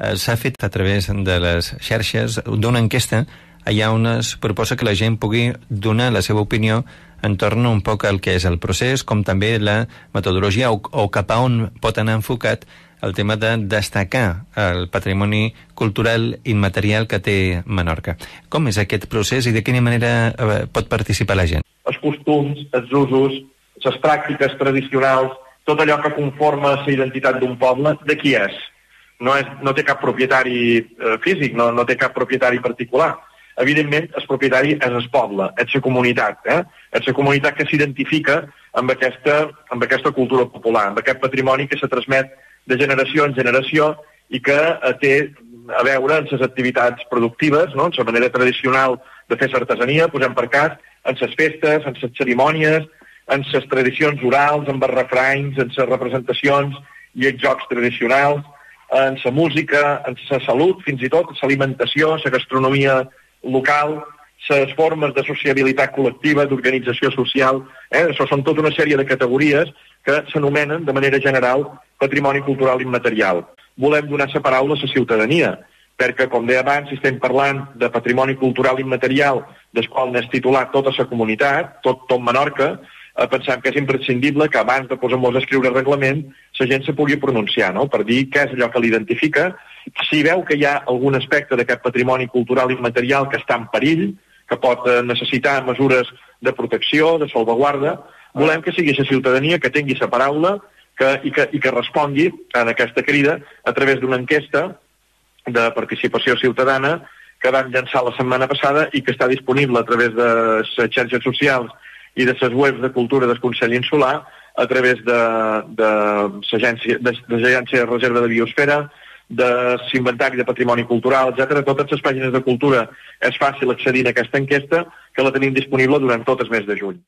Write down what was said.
s'ha fet a través de les xarxes d'una enquesta allà on es proposa que la gent pugui donar la seva opinió entorn un poc al que és el procés, com també la metodologia o cap a on pot anar enfocat el tema de destacar el patrimoni cultural immaterial que té Menorca. Com és aquest procés i de quina manera pot participar la gent? Els costums, els usos, les pràctiques tradicionals, tot allò que conforma la identitat d'un poble, de qui és? No té cap propietari físic, no té cap propietari particular. Evidentment, el propietari és el poble, és la comunitat, és la comunitat que s'identifica amb aquesta cultura popular, amb aquest patrimoni que se transmet de generació en generació i que té a veure amb les activitats productives, no? En la manera tradicional de fer l'artesania, posem per cas, en les festes, en les cerimònies, en les tradicions orals, en els refranys, en les representacions i els jocs tradicionals, en la música, en la salut, fins i tot, l'alimentació, la gastronomia local, les formes de sociabilitat col·lectiva, d'organització social. Això són tota una sèrie de categories que s'anomenen de manera general patrimoni cultural immaterial. Volem donar la paraula a la ciutadania, perquè, com deia abans, si estem parlant de patrimoni cultural immaterial, del qual n'és titulat tota la comunitat, tot Menorca, pensem que és imprescindible que abans de posar-nos a escriure reglament la gent se pugui pronunciar, no? Per dir què és allò que l'identifica. Si veu que hi ha algun aspecte d'aquest patrimoni cultural immaterial que està en perill, que pot necessitar mesures de protecció, de salvaguarda, volem que sigui la ciutadania que tingui la paraula i que respongui en aquesta crida a través d'una enquesta de participació ciutadana que vam llançar la setmana passada i que està disponible a través de les xarxes socials i de les webs de cultura del Consell Insular, a través de l'Agència de Reserva de Biosfera, de l'Inventari de Patrimoni Cultural, etc. Totes les pàgines de cultura és fàcil accedir a aquesta enquesta, que la tenim disponible durant tot el mes de juny.